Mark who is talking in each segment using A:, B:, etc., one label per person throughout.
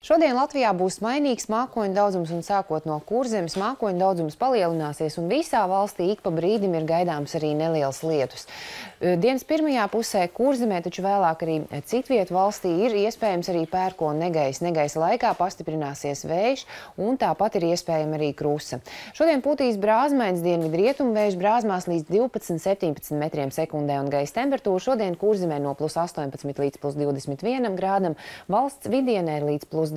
A: Šodien Latvijā būs mainīgs mākoņu daudzums un sākot no Kurzemes mākoņu daudzums palielināsies un visā valstī ik pa brīdim ir gaidāms arī nelielas lietus. Dienas pirmajā pusē Kurzemē, taču vēlāk arī citvietu valstī ir iespējams arī pērkona negaiss. Negaisa laikā pastiprināsies vējš un tāpat ir iespējama arī krusa. Šodien pūtīs brāzmains dienvidu rietumu vējš brāzmās līdz 12–17 metriem sekundē un gaisa temperatūra šodien Kurzemē no +18 līdz +21 grādam, valsts vidienē ir līdz +20–+21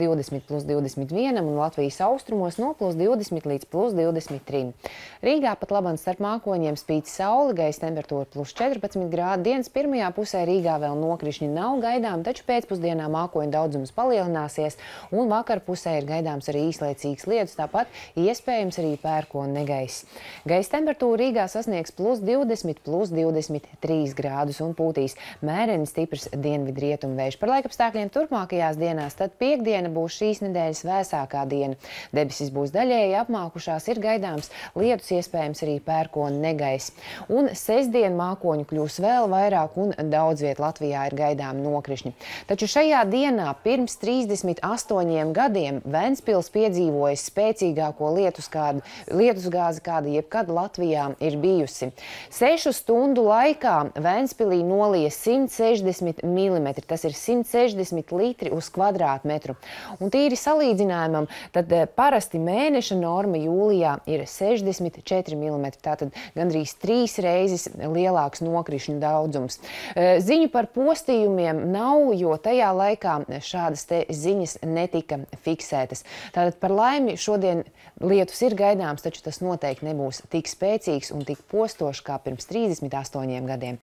A: un Latvijas austrumos no +20 līdz +23. Rīgā pat labam starp mākoņiem spīd saule, gaisa temperatūra +14 grādi. Dienas pirmajā pusē Rīgā vēl nokrišņi nav gaidām, taču pēcpusdienā mākoņu daudzums palielināsies un vakar pusē ir gaidāms arī īslaicīgs lietus, tāpat iespējams arī pērkona negaiss. Gaisa temperatūra Rīgā sasniegs +20–+23 grādus un pūtīs mēreni stiprs dienvidu rietumu vējš. Par laikapstākļiem turpmākajās dienās, tad piektdiena būs šīs nedēļas vēsākā diena. Debesis būs daļēji apmākušās, ir gaidāms lietus, iespējams arī pērkona negaiss. Un sestdien mākoņu kļūs vēl vairāk un daudz viet Latvijā ir gaidām nokrišņi. Taču šajā dienā pirms 38 gadiem Ventspils piedzīvojas spēcīgāko lietusgāzi, kāda jebkad Latvijā ir bijusi. 6 stundu laikā Ventspilī nolija 160 mm, tas ir 160 litri uz kvadrātmetru. Un tīri salīdzinājumam, tad parasti mēneša norma jūlijā ir 64 mm, tātad gandrīz 3 reizes lielāks nokrišņu daudzums. Ziņu par postījumiem nav, jo tajā laikā šādas te ziņas netika fiksētas. Tātad par laimi šodien lietus ir gaidāms, taču tas noteikti nebūs tik spēcīgs un tik postošs kā pirms 38 gadiem.